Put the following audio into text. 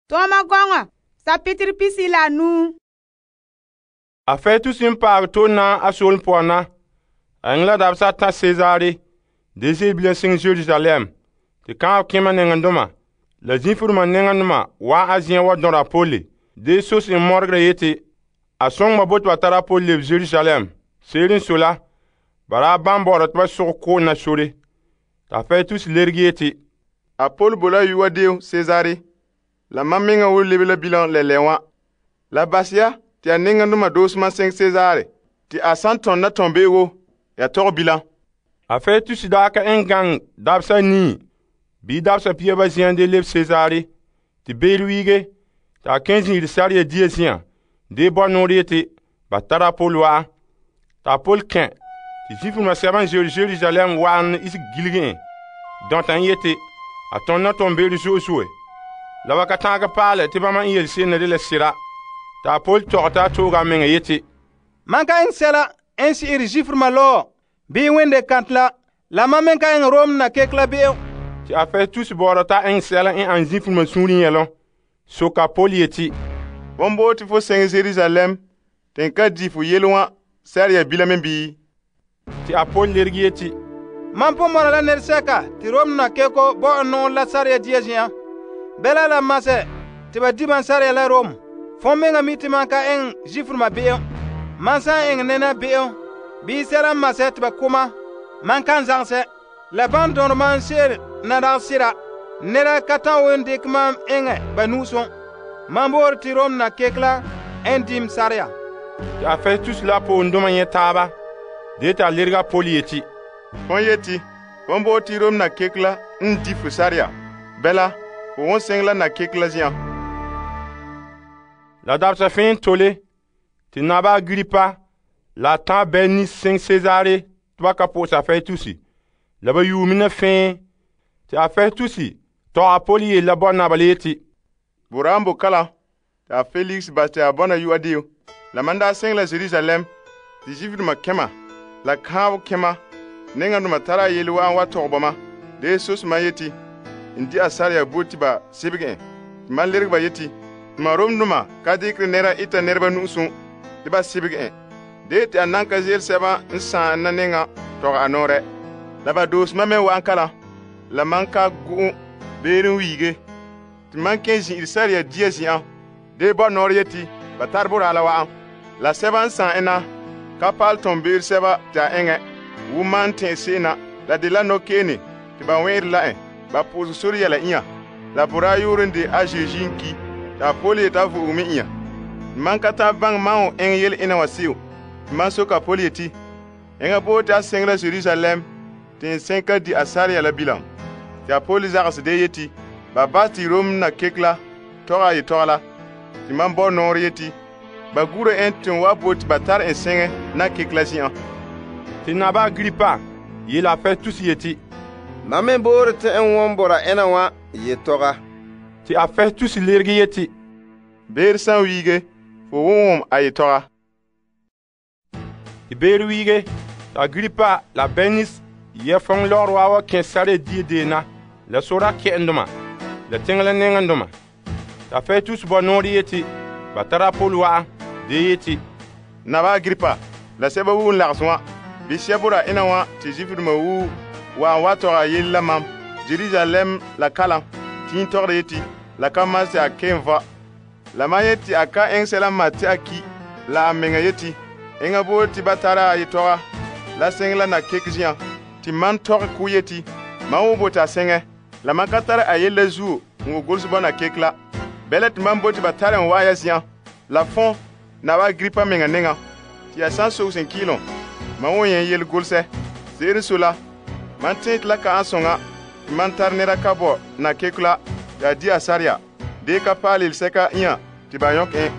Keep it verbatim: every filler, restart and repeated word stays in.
Tɔɔma gɔŋɔ sapitere pisi la nuu. A Festus n paɛ to na a soolem poan na. A eŋɛ la dabesa ta Cesare, de ze'ele bilam siŋe Jerusalem. Te kaanbɛ kema nɛŋandoma la zĩifuruma nɛŋandoma wa'an a zen'an wa dɔnra a Paul. De sos en mɔregera yeti a soŋɛ ba bo te ba tara Paul lebe Jerusalem. Se'ere n sɔe la, ba daa ban bɔ'ɔra te ba sogɛ ko'om na sore. Ta Festus lerege yeti, A Paul bo la yu'a deo Cesare, la mam meŋa wo lebe la bilam lɛlɛ wã. La base ya te ya nɛŋandoma doose mam seŋ Cesare, te a san tɔn na tɔnbe'ego, ya tɔgɛ bilam. A Festus daa ka eŋɛ gaŋɛ dabesa nii bii dabesa pia ba zen'an de lebe Cesare. Te beere wiige, te a kɛn zin'ire sareya dia zi'an de bɔ nɔɔrɛ yeti ba tara Paul wa'an. Ta Paul kɛn te zĩifuruma sɛba n ze'ele Jerusalem wa'an isege gilege en dɔnta en yeti a tɔn na tɔnbe'ero zo'e zo'e. La ba ka ta'anka paalɛ te bama n yele se'em na dela sera. Ta Paul tɔgɛ ta tooga a meŋa yeti, Man ka eŋɛ sɛla n si'ire zĩifuruma lɔɔ bii wende kantɛ la, la mam meŋ ka eŋɛ Rom na keke la be'em. Te a Festus bɔɔra ta eŋɛ sɛla n an zĩifuruma suunre yɛlom. Soka Paul yeti, Fon bo te fo seŋɛ Jerusalem, te n ka di fo yele wã sɛreya bilam me bii? te a Paul lerege yeti, Mam pon mɔna la nɛresɛka te Rom na keko bo n nɔŋɛ la sareya dia zi'an. Bɛla la masɛ te ba di ban sareya la Rom. Fon meŋa mi te man ka eŋɛ zĩifuruma be'em. Man san eŋɛ nɛna be'em bii sɛla n masɛ te ba koma, man kan zagsɛ. La ban dɔnre man se'ere na dagɛ sera, nɛra ka ta'an won dekɛ mam eŋɛ ba nu'usom. Man boore te Rom na keke la n dim sareya. te a Festus la poondoma nyɛ taaba. De ta lerega a Paul yeti, Fon yeti, fon bo te Rom na keke la n di fo sareya. Bɛla, fo won seŋɛ la na keke la zi'an. la dabesa fẽen tole te naba Agripa la tã Bernice seŋ Cesare tɩ ba ka pʋʋsa a Festus. La ba yuumi na fẽe tɩ a Festus tɔg a Paul yeel la bɔnaba le yeti, Boram bo kala, te a Felix bas te a bɔna yu'a deo. La man daa seŋɛ la Jerusalem, te Zuifdoma kɛma, la kãabo kɛma, nɛŋandoma tara a yele wa'an wa tɔg bama. De sos man yeti, n di a sareya bo tɩ ba sebege en. Tɩ man lerg ba yeti, tɩma Romdoma ka dɩkre nɛra ita nɛreba nu'usom tɩ ba sebege en. De tɩ a nan ka zeele sɛba n sãan na nɛŋa tɔg a nɔɔrɛ. La ba doos ma me wa'an kala, la man ka go'o beer n wiige. Tɩ man kẽ zĩ'ire sareya dia zi'an, de bɔ nɔɔrɛ yeti, ba tar boraa la wa'an. La sɛba n sãan ena ka paal tɔnbeer sɛba tɩ a eŋɛ, wo man tẽ se'em na, la de la nɔkeene tɩ ba wẽere la en, ba pʋʋsɛ sor yɛla ĩa. La boraa yoor n de a Zeezi n ki, t'a Paul yeta a vo'oge me ĩa. Man ka ta'an baŋɛ man wo eŋɛ yele ena wã seo. Tɩ man soka Paul yeti, Eŋa bo tɩ a seŋ la Jerusalem, tɩ n sẽn ka di a sareya la bilam. Tɩ a Paul zagsɛ de yeti, ba bas tɩ Rom na kek la tɔga a yetɔga la. Tɩ man bɔ nɔɔrɛ yeti, ba gura en tɩ n wa bo tɩ ba tar en sẽŋɛ na kek la zi'an. tɩ naba Agripa yeela a Festus yeti, Mam me boore tɩ n wõn bora ẽna wã yetɔga. tɩ a Festus lerege yeti, Beer san wiige, fo wʋm wʋm a yetɔga. tɩ beer wiige tɩ Agripa la Bernice yɛ fõng lɔgr waa wa kẽ sare die deena la sora kɛ'endoma la teŋa la nɛŋendoma. T'a Festus bɔ noore yeti ba tara Paul wa'an de yeti, Naba Agripa, la sɛba wu n lags wã, bɩ sɛbora ẽna wã tɩ Zuifdoma wu wa n wa tɔg a yell la mam, Jerusalem la kalam, tɩ yĩn tɔgda yeti, la ka mas tɩ a ken va. La man yeti a ka ẽng sɛla n mat tɩ a ki, la a meŋa yeti, eŋa boor tɩ ba tara a yetɔga, la sẽng la na kek zi'an, tɩ man tɔg kʋ yeti, man wo bote a sẽŋɛ, la man ka tara a yell la zuo n wo gols bɔna kek la. Bɛla tɩ man bo tɩ ba tar n waa ya zi'an, la fõn, naba Agripa meŋa nengã, tɩ ya sã n sogs n kɩɩlem, man wo yẽ yel golsɛ. Se'ere n so la, man tẽ tɩ la ka ãn sõŋa tɩ man tar neda ka bɔ na kek la tɩ a di a sareya, dee ka paal yelsɛka ĩa tɩ ba yõk en.